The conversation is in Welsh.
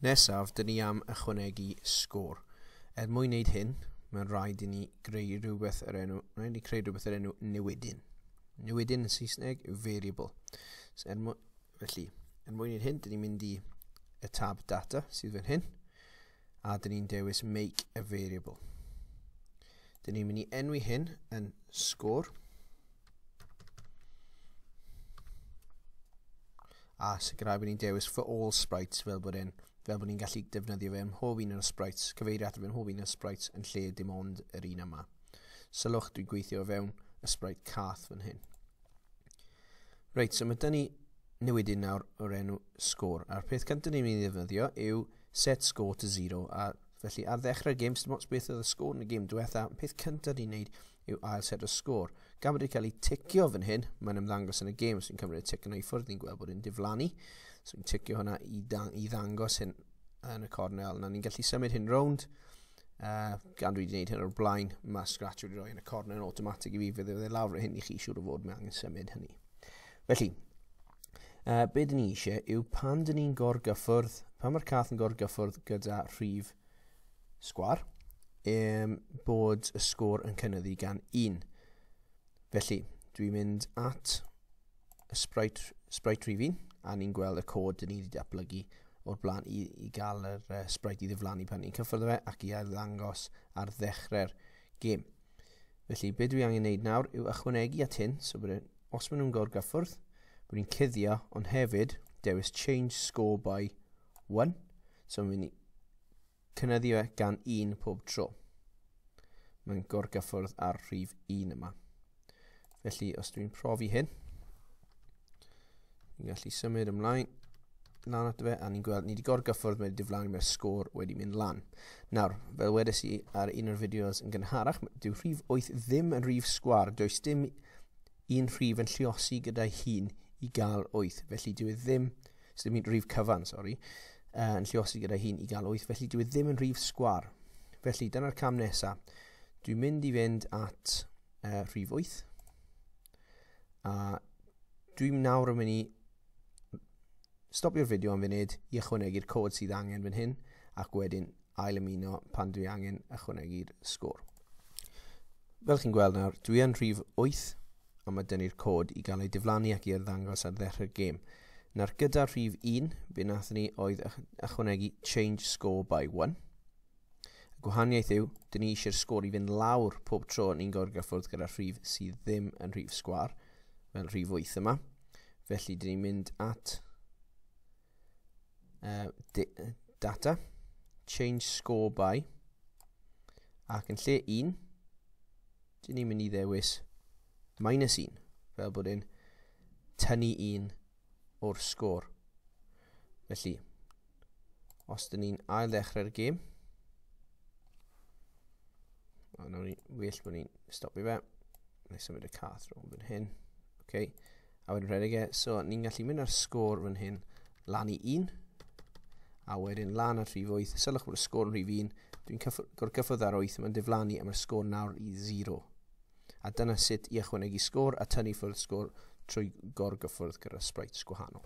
Nesaf, dyn ni am ychwanegu sgôr. Er mwyn wneud hyn, mae'n rhaid i ni greu rhywbeth yr enw, rhaid i ni creu rhywbeth yr enw newidyn. Newidyn yn Saesneg yw variable. So, felly, er mwyn wneud hyn, dyn ni'n mynd i y tab data sydd fan hyn, a dyn ni'n dewis make a variable. Dyn ni'n mynd i enwi hyn yn sgôr, a sicrhau bod ni'n dewis for all sprites fel bod ni'n gallu defnyddio fe ym mhob un o'r sprites, cyfeirio ato fe ym mhob un o'r sprites yn lle dim ond yr un yma. Sylwch, dwi'n gweithio o fewn y sprite cath fan hyn. Reit, so mae dyn ni newidyn nawr o'r enw sgôr, a'r peth cyntaf ni'n mynd i ddefnyddio yw set score to 0, a felly ar ddechrau'r gêm, dim ots beth oedd y sgôr yn y gêm diwetha, peth cyntaf ni'n neud yw ail set o sgôr. Gan bod wedi cael ei ticio fan hyn, mae'n ymddangos yn y gêm. Os ni'n cymryd y tic yna i ffwrdd, ni'n gweld bod e'n diflannu. So ni'n ticio hwnna i ddangos hyn yn y cornel. Nawr ni'n gallu symud hyn rownd. Gan dwi wedi gwneud hyn o'r blaen, mae Scratch wedi rhoi yn y cornel yn automatic i fi, fydd e lawr hyn i chi siŵr o fod mae angen symud hynny. Felly, be dyn ni eisiau yw pan dyn ni'n gorgyffwrdd, pan mae'r cath yn gorgyffwrdd gyda rhif sgwar, bod y sgôr yn cynyddu gan 1. Felly, dwi'n mynd at y sprite rhif 1, a ni'n gweld y cod dyn ni wedi datblygu o'r blaen i gael yr sprite i ddiflannu pan ni'n cyffwrdd fe ac i arddangos ar ddechrau'r gêm. Felly, be dwi angen wneud nawr yw ychwanegu at hyn, so bod os maen nhw'n gorgyffwrdd, bod ni'n cuddio, ond hefyd dewis change score by 1, so mae'n mynd i cynyddu e gan 1 pob tro. Mae'n gorgyffwrdd ar rhif 1 yma. Felly, os dwi'n profi hyn, ni'n gallu symud ymlaen lan ato fe, a ni'n gweld ni wedi gorgyffwrdd, mae wedi diflannu, mae'r sgôr wedi mynd lan. Nawr, fel wedes i ar un o'r fideos yn gynharach, dyw rhif 8 ddim yn rhif sgwâr, does dim un rhif yn lluosi gyda'i hun i gael 8, felly dyw e ddim, dim un rhif cyfan, sori, yn lluosi gyda'i hun i gael 8, felly dyw e ddim yn rhif sgwâr. Felly, dyna'r cam nesaf. Dwi'n mynd i fynd at rhif 8, a dwi'n nawr yn mynd i stopio'r fideo am funud i ychwanegu'r cod sydd angen fan hyn, ac wedyn ail ymuno pan dwi angen ychwanegu'r sgôr. Fel chi'n gweld nawr, dwi yn rhif 8, a mae dyn ni'r cod i gael ei diflannu ac i arddangos ar ddechrau'r gêm. Nawr gyda rhif 1, be nathon ni oedd ychwanegu change score by 1. Y gwahaniaeth yw, dyn ni eisiau'r sgôr i fynd lawr pob tro ni'n gorgyffwrdd gyda rhif sydd ddim yn rhif sgwâr, fel rhif 8 yma. Felly, dyn ni'n mynd at data, change score by, ac yn lle 1, dyn ni'n mynd i ddewis minus 1, fel bod e'n tynnu 1 o'r sgôr. Felly, os dyn ni'n ail ddechrau'r gêm, nawr ni well bod ni'n stopio fe, na i symud y cath rownd fan hyn, okay. A wedyn rhedeg e, so ni'n gallu mynd ar sgôr fan hyn lan i 1, a wedyn lan at rhif 8, sylwch bod y sgôr yn rhif 1, dwi'n gorgyffwrdd ar 8, mae'n diflannu a mae'r sgôr nawr i 0. A dyna sut i ychwanegu sgôr a tynnu ffwrdd sgôr trwy gorgyffwrdd gyda sprites gwahanol.